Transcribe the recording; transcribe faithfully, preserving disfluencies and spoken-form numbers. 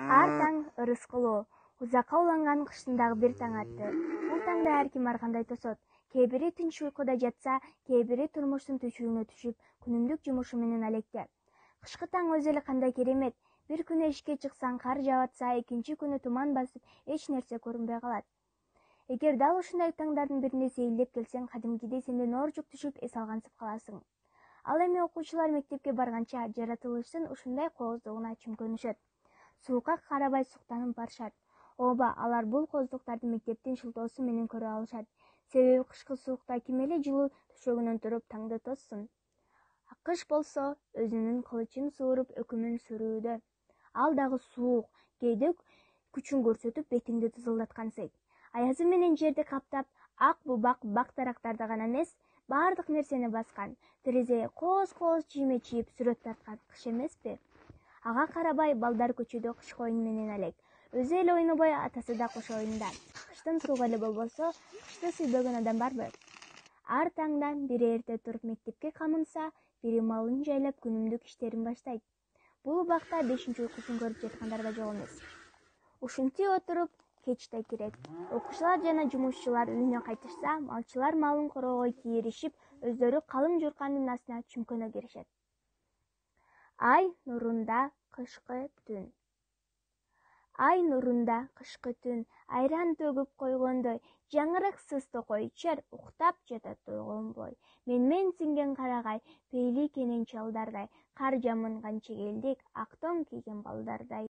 Ар таң ырыскылуу, узакка уланган кыштын дагы бир таң атты. Бул таңда ар ким ар кандай тосот. Кээ бири тынч уйкуда жатса, кээ бири турмуштун түшүгүнө түшүп, күнүмдүк жумушу менен алекте. Кышкы таң өзү эле кандай керемет. Бир күнү эшикке чыксаң кар жаап атса, экинчи күнү туман басып, эч нерсе көрүнбөй калат. Эгер дал ушундай таңдардын бирине сейилдеп келсең, кадимкидей сенден оржук түшүп эс алгансып каласың. Ал эми окуучулар мектепке барганча жаратылыштын ушундай кооздугуна чүмкөнүшөт. Суукка карабай суктанып барышат. Ооба, алар бул кооздуктарды мектептин шылтоосу менен көрө алышат. Себеби кышкы суукта ким эле жылуу төшөгүнөн туруп таңды тоссун. Акыш болсо өзүнүн кылычын сууруп өкүмүн сүрүүдө. Ал дагы суук, кээде күчүн көрсөтүп бетиңди тызылдаткансый. Аязы менен жерди каптап, ак бубак бак дарактарды гана эмес, баардык нерсени баскан. Терезеге кооз-кооз чийме чийип сүрөт тарткан кыш эмеспи? Ага карабай балдар көчөдө кышкы оюн менен алек. Өзү эле ойнобой, атасы да кошо оюнда. Кыштын суугу эле болбосо, кышты сүйбөгөн адам барбы? Ар таңдан бири эрте туруп мектепке камынса, бири малын жайлап күнүмдүк иштерин баштайт. Бул убакта бешинчи уйкусун көрүп жаткандар да жок эмес. Ушинтип отуруп кеч да кирет. Окуучулар жана жумушчулар үйүнө кайтышса, малчылар малын короого кийиришип, өздөрү калың журкандын астына чүмкөнө киришет. Ай нурунда кышкы түн. Ай нурунда кышкы түн, айран төгүп койгондой, жаңырыксыз токой чер уктап жатат ойгонбой. Мен-мен сиңген карагай, пейли кенен чалдардай, кар жамынган чегелдик, ак тоң кийген балдардай.